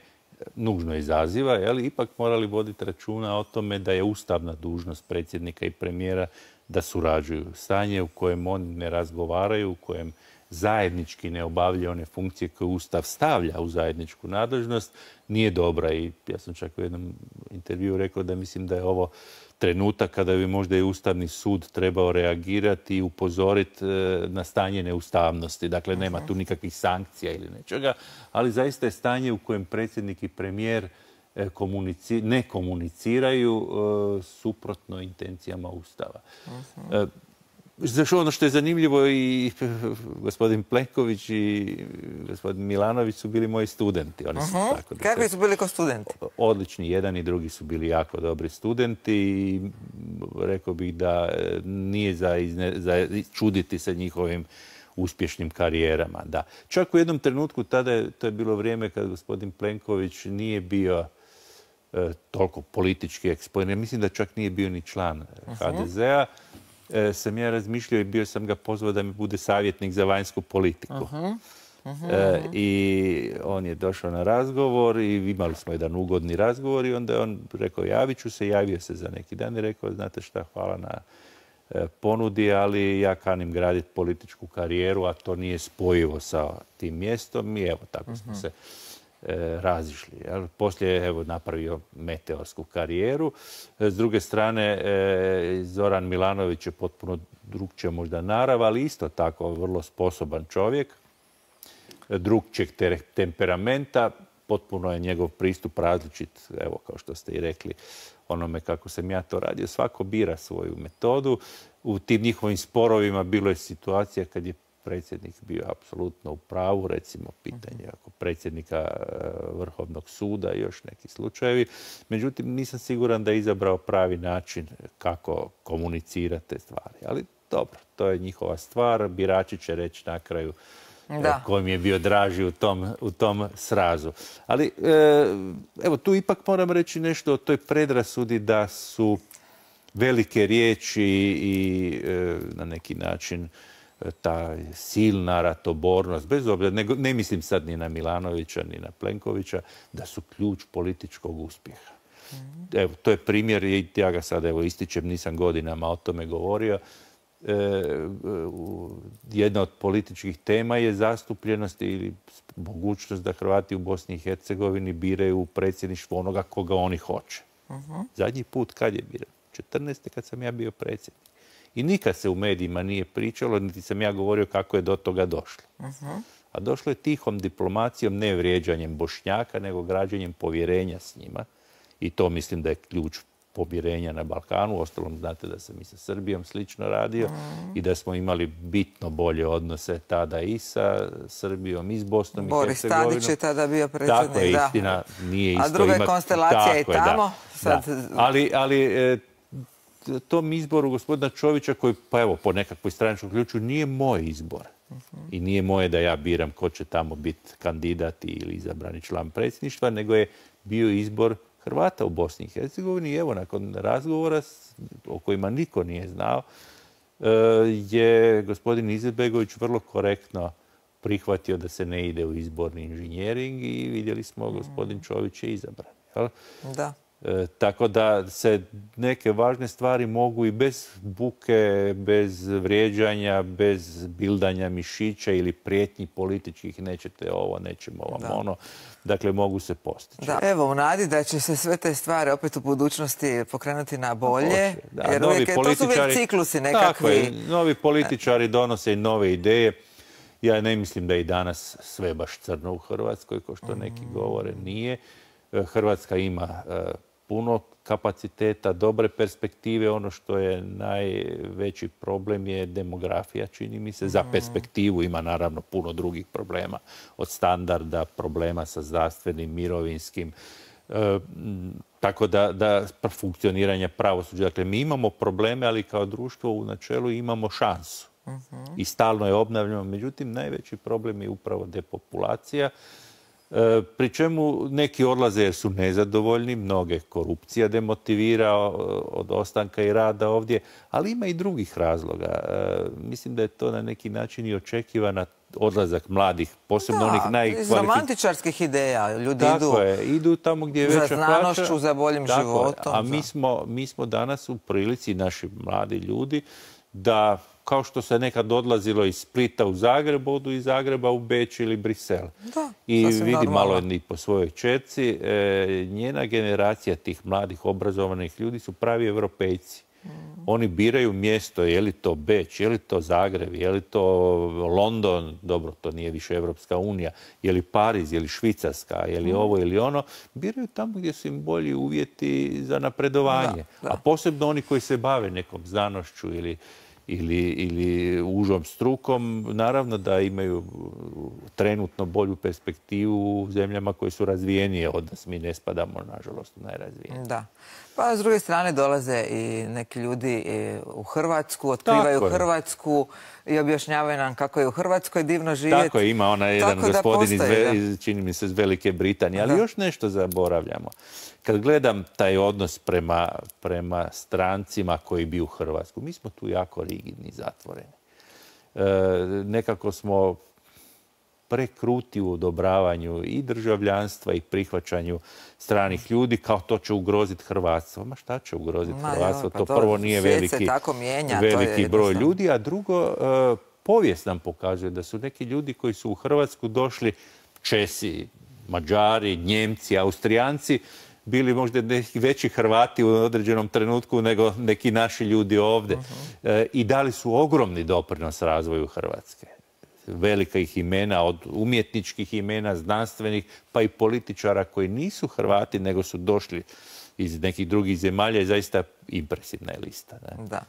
nužno izaziva, ipak morali voditi računa o tome da je ustavna dužnost predsjednika i premijera da surađuju. Stanje u kojem oni ne razgovaraju, u kojem zajednički ne obavljaju one funkcije koje Ustav stavlja u zajedničku nadležnost, nije dobra. I ja sam čak u jednom intervjuu rekao da mislim da je ovo trenutak kada bi možda i Ustavni sud trebao reagirati i upozoriti na stanje neustavnosti. Dakle, nema tu nikakvih sankcija ili nečega, ali zaista je stanje u kojem predsjednik i premijer ne komuniciraju suprotno intencijama Ustava. Ono što je zanimljivo, i gospodin Plenković i gospodin Milanović su bili moji studenti. Kakvi su bili kao studenti? Odlični, jedan i drugi su bili jako dobri studenti i rekao bih da nije za čuditi se njihovim uspješnim karijerama. Da. Čak u jednom trenutku, tada to je bilo vrijeme kad gospodin Plenković nije bio toliko politički eksponiran. Mislim da čak nije bio ni član HDZ-a. Sam ja razmišljao i bio sam ga pozvao da mi bude savjetnik za vanjsku politiku. I on je došao na razgovor i imali smo jedan ugodni razgovor i onda je on rekao javit ću se, javio se za neki dan i rekao znate šta, hvala na ponudi, ali ja kanim graditi političku karijeru, a to nije spojivo sa tim mjestom i evo tako smo se razišli. Poslije je napravio meteorsku karijeru. S druge strane, Zoran Milanović je potpuno drugčija možda narav, ali isto tako vrlo sposoban čovjek, drugčijeg temperamenta, potpuno je njegov pristup različit, evo kao što ste i rekli, onome kako sam ja to radio. Svako bira svoju metodu. U tim njihovim sporovima bilo je situacija kad je predsjednik bio apsolutno u pravu, recimo pitanje ako predsjednika Vrhovnog suda i još neki slučajevi. Međutim, nisam siguran da je izabrao pravi način kako komunicirati te stvari. Ali dobro, to je njihova stvar. Birači će reći na kraju kojim je bio draži u tom srazu. Ali evo, tu ipak moram reći nešto o toj predrasudi da su velike riječi i na neki način ta silna ratobornost, bez obzira, ne mislim sad ni na Milanovića, ni na Plenkovića, da su ključ političkog uspjeha. Evo, to je primjer, i ja ga sad ističem, nisam godinama o tome govorio. Jedna od političkih tema je zastupljenost ili mogućnost da Hrvati u Bosni i Hercegovini biraju u predsjedništvo onoga koga oni hoće. Zadnji put kad je biran? 14. kad sam ja bio predsjednik. I nikad se u medijima nije pričalo, niti sam ja govorio kako je do toga došlo. A došlo je tihom diplomacijom, ne vrijeđanjem Bošnjaka, nego građenjem povjerenja s njima. I to mislim da je ključ pomirenja na Balkanu. Uostalom, znate da sam i sa Srbijom slično radio i da smo imali bitno bolje odnose tada i sa Srbijom i s Bosnom i Hercegovinom. Boris Tadić je tada bio predsjednik. Tako je, istina, nije isto. A druga je konstelacija i tamo. Ali tom izboru gospodina Čovića, koji, pa evo, po nekakvoj stranačkom ključu, nije moj izbor. I nije moje da ja biram ko će tamo biti kandidat ili izabrani član predsjedništva, nego je bio izbor Hrvata u Bosni i Hercegovini. I evo, nakon razgovora o kojima niko nije znao, je gospodin Izetbegović vrlo korektno prihvatio da se ne ide u izborni inženjering i vidjeli smo gospodin Čović je izabran. Jel? Da. Tako da se neke važne stvari mogu i bez buke, bez vrijeđanja, bez bildanja mišića ili prijetnji političkih, nećete ovo, nećemo vam ono. Dakle, mogu se postići. Da. Evo, u nadi da će se sve te stvari opet u budućnosti pokrenuti na bolje, jer uvijek to su uvijek ciklusi nekakvi. Tako je, novi političari donose i nove ideje. Ja ne mislim da je i danas sve baš crno u Hrvatskoj, kao što neki govore, nije. Hrvatska ima puno kapaciteta, dobre perspektive. Ono što je najveći problem je demografija, čini mi se. Za perspektivu ima naravno puno drugih problema. Od standarda, problema sa zdravstvenim, mirovinskim, tako da funkcioniranja pravosuđa. Dakle, mi imamo probleme, ali kao društvo u načelu imamo šansu. I stalno je obnavljamo. Međutim, najveći problem je upravo depopulacija. Pri čemu neki odlaze jer su nezadovoljni, mnoge korupcija demotivira od ostanka i rada ovdje, ali ima i drugih razloga. Mislim da je to na neki način i očekivana odlazak mladih, posebno onih iz romantičarskih ideja. Ljudi idu tamo gdje je veća plaća. Za znanošću, za boljim životom. A mi smo danas u prilici, naši mladi ljudi, da kao što se nekad odlazilo iz Splita u Zagreb, odu iz Zagreba u Beč ili Brisel. I vidi malo i po svojoj čerci, njena generacija tih mladih obrazovanih ljudi su pravi Evropejci. Oni biraju mjesto, je li to Beč, je li to Zagreb, je li to London, dobro, to nije više Evropska unija, je li Pariz, je li Švicarska, je li ovo ili ono. Biraju tamo gdje su im bolji uvjeti za napredovanje. A posebno oni koji se bave nekom znanošću ili užom strukom, naravno da imaju trenutno bolju perspektivu u zemljama koje su razvijenije od nas. Mi ne spadamo, nažalost, u najrazvijenije. Da. Pa s druge strane dolaze i neki ljudi u Hrvatsku, otkrivaju Hrvatsku i objašnjavaju nam kako je u Hrvatskoj divno živjeti. Tako je, ima onaj jedan gospodin čini mi se, iz Velike Britanije. Ali još nešto zaboravljamo. Kad gledam taj odnos prema strancima koji bi u Hrvatsku, mi smo tu jako rigidni, zatvoreni. Nekako smo prekruti u odobravanju i državljanstva i prihvaćanju stranih ljudi, kao to će ugroziti hrvatstvo. Ma šta će ugroziti hrvatstvo? To prvo nije veliki broj ljudi, a drugo, povijest nam pokazuje da su neki ljudi koji su u Hrvatsku došli, Česi, Mađari, Njemci, Austrijanci, bili možda neki veći Hrvati u određenom trenutku nego neki naši ljudi ovdje. I dali su ogromni doprinos razvoju Hrvatske. Velikih imena, od umjetničkih imena, znanstvenih, pa i političara koji nisu Hrvati, nego su došli iz nekih drugih zemalja i zaista impresivna je lista. Da.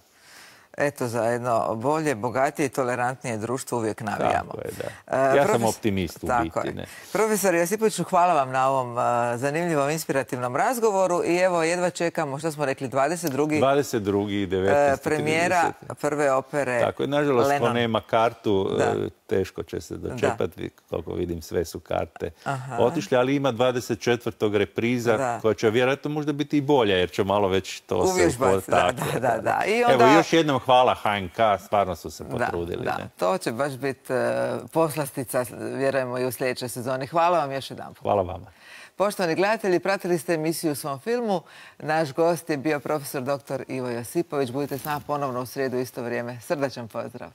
Eto, za jedno bolje, bogatije i tolerantnije društvo uvijek navijamo. Tako je, da. Ja sam optimist u biti. Profesor Josipoviću, hvala vam na ovom zanimljivom, inspirativnom razgovoru i evo, jedva čekamo, što smo rekli, 22. 19. premijera prve opere Tako je, nažalost, ko nema kartu, teško će se dočepati, koliko vidim, sve su karte otišle, ali ima 24. repriza, koja će vjerojatno možda biti i bolja, jer će malo već to se uvježbati. Da. Evo, još jednom hvala HNK, stvarno su se potrudili. To će baš biti poslastica, vjerujemo, i u sljedećoj sezoni. Hvala vam još jedan. Hvala vama. Poštovani gledatelji, pratili ste emisiju u svom filmu. Naš gost je bio profesor dr. Ivo Josipović. Budite s nama ponovno u srijedu u isto vrijeme. Srdačan pozdrav.